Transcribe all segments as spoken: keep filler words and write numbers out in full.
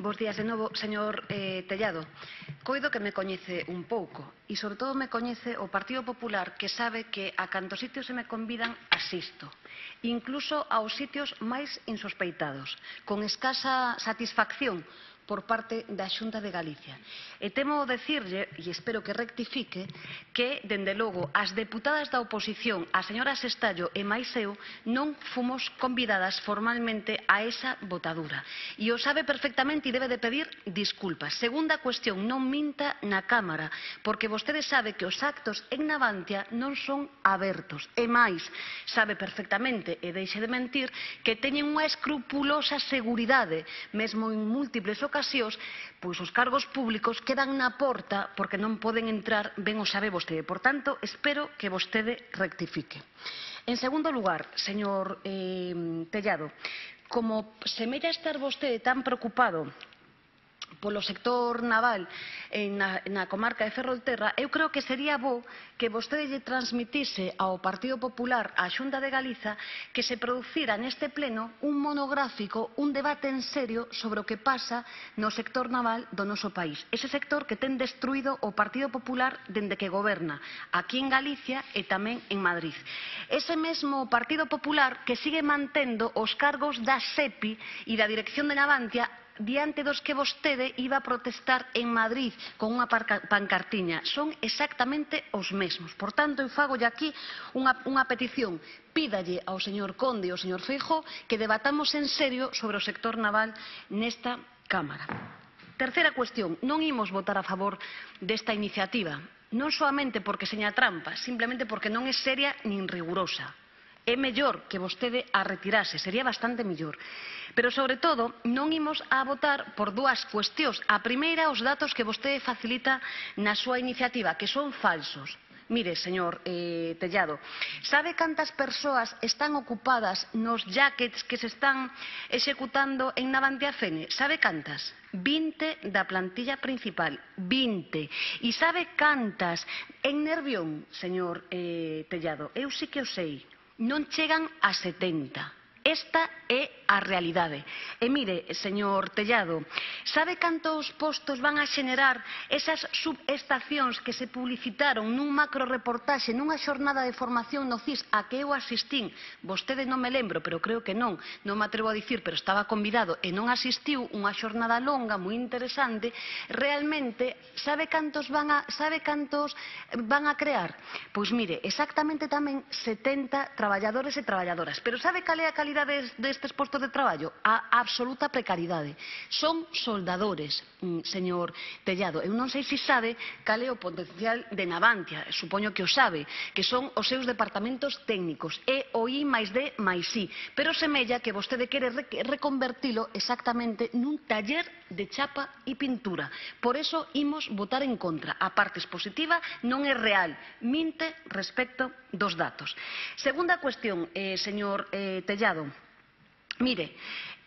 Bos días de novo, señor eh, Tellado. Coido que me coñece un pouco e, sobre todo, me coñece o Partido Popular, que sabe que a cantos sitios se me convidan asisto, incluso aos sitios máis insospeitados, con escasa satisfacción por parte da Xunta de Galicia. E temo decirlle, e espero que rectifique, que, dende logo, as deputadas da oposición, a señora Sestallo e máis eu, non fomos convidadas formalmente a esa votadura. E o sabe perfectamente e debe de pedir disculpas. Segunda cuestión, non minta na Cámara, porque vostede sabe que os actos en Navantia non son abertos. E máis, sabe perfectamente, e deixe de mentir, que teñen unha escrupulosa seguridade, mesmo en múltiples ocasións, pois os cargos públicos quedan na porta porque non poden entrar, ben o sabe vostede. Por tanto, espero que vostede rectifique. En segundo lugar, señor eh, Tellado, como semella estar vostede tan preocupado polo sector naval na, na comarca de Ferrolterra, eu creo que sería bo que vostede lle transmitise ao Partido Popular, á Xunta de Galiza, que se producira neste pleno un monográfico, un debate en serio sobre o que pasa no sector naval do noso país. Ese sector que ten destruído o Partido Popular dende que goberna aquí en Galicia e tamén en Madrid. Ese mesmo Partido Popular que sigue mantendo os cargos da SEPI e da Dirección de Navantia diante dos que vostede iba a protestar en Madrid con unha pancartiña. Son exactamente os mesmos. Por tanto, eu fagolle aquí unha, unha petición. Pídalle ao señor Conde e ao señor Feijóo que debatamos en serio sobre o sector naval nesta Cámara. Terceira cuestión. Non imos votar a favor desta iniciativa. Non soamente porque seña trampa, simplemente porque non é seria nin rigurosa. É mellor que vostede a retirase, sería bastante mellor. Pero, sobre todo, non imos a votar por dúas cuestións. A primeira, os datos que vostede facilita na súa iniciativa, que son falsos. Mire, señor eh, Tellado, sabe cantas persoas están ocupadas nos jackets que se están executando en Navantia Fene? Sabe cantas? vinte da plantilla principal, vinte. E sabe cantas en Nervión, señor eh, Tellado? Eu sí que o sei. Non chegan a setenta. Esta é a realidade. E mire, señor Tellado, sabe cantos postos van a xenerar esas subestacións que se publicitaron nun macro reportaxe, nunha xornada de formación no C I S a que eu asistín? Vostede non me lembro, pero creo que non, non me atrevo a dicir, pero estaba convidado e non asistiu, unha xornada longa, moi interesante. Realmente, sabe cantos van a, sabe cantos van a crear? Pois mire, exactamente tamén setenta traballadores e traballadoras. Pero sabe cal é a calidade destes postos de traballo? A absoluta precariedade. Son soldadores, señor Tellado. Eu non sei se sabe cal é o potencial de Navantia, supoño que o sabe, que son os seus departamentos técnicos, E o I máis D máis I, pero semella que vostede quere reconvertilo exactamente nun taller de chapa e pintura. Por eso imos votar en contra. A parte expositiva non é real, minte respecto dos datos. Segunda cuestión, eh, señor eh, Tellado. Mire,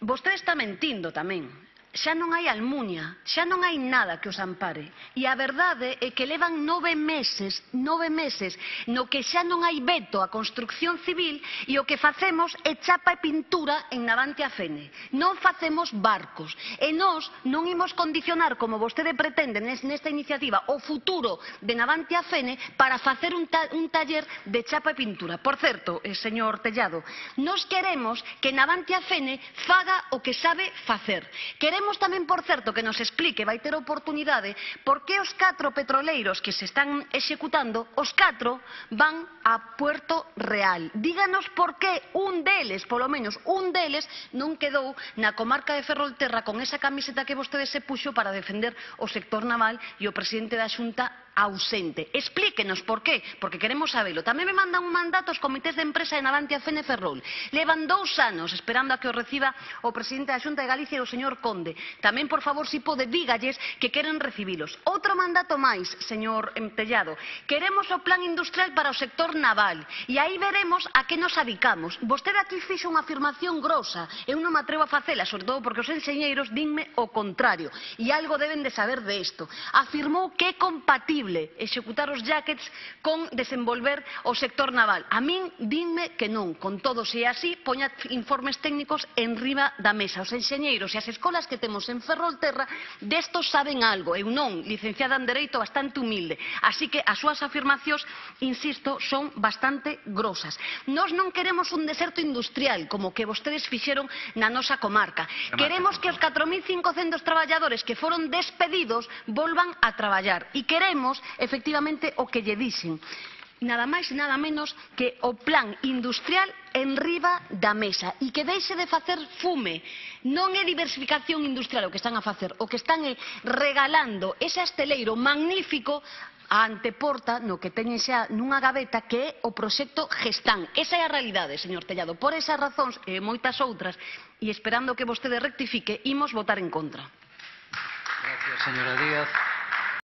vostede está mentindo tamén. Xa non hai almunia, xa non hai nada que os ampare. E a verdade é que levan nove meses, nove meses, no que xa non hai veto á construcción civil e o que facemos é chapa e pintura en Navantia Fene. Non facemos barcos. E nós non imos condicionar, como vostede pretende nesta iniciativa, o futuro de Navantia Fene para facer un, ta un taller de chapa e pintura. Por certo, eh, señor Tellado, nós queremos que Navantia Fene faga o que sabe facer. Queremos Queremos tamén, por certo, que nos explique, vai ter oportunidade, por que os catro petroleiros que se están executando, os catro van a Puerto Real. Díganos por que un deles, polo menos un deles, non quedou na comarca de Ferrolterra con esa camiseta que vostede se puxo para defender o sector naval e o presidente da Xunta ausente. Explíquenos por qué, porque queremos sabelo. Tamén me mandan un mandato os comités de empresa de Navantia Fene Ferrol. Levan dous anos esperando a que o reciba o presidente da Xunta de Galicia e o señor Conde. Tamén, por favor, si pode, dígalles que queren recibilos. Outro mandato máis, señor Tellado. Queremos o plan industrial para o sector naval. E aí veremos a que nos adicamos. Vostede aquí fixo unha afirmación grosa. Eu non me atrevo a facela, sobre todo porque os enxeñeiros dinme o contrario. E algo deben de saber de isto. Afirmou que é compatible compatible executar os jackets con desenvolver o sector naval. A min dinme que non, con todo, se é así, poña informes técnicos en riba da mesa. Os enxeñeiros e as escolas que temos en Ferrolterra destos saben algo. Eu non, licenciada en Dereito, bastante humilde. Así que as súas afirmacións, insisto, son bastante grosas. Nós non queremos un deserto industrial, como que vostedes fixeron na nosa comarca. Queremos que os catro mil cincocentos traballadores que foron despedidos volvan a traballar. E queremos, efectivamente, o que lle dixen. Nada máis e nada menos que o plan industrial en riba da mesa e que deixe de facer fume. Non é diversificación industrial o que están a facer, o que están é regalando ese asteleiro magnífico a anteporta no que teñen xa nunha gaveta que é o proxecto Gestán. Esa é a realidade, señor Tellado. Por esas razóns e moitas outras, e esperando que vostede rectifique, imos votar en contra. Gracias, señora Díaz.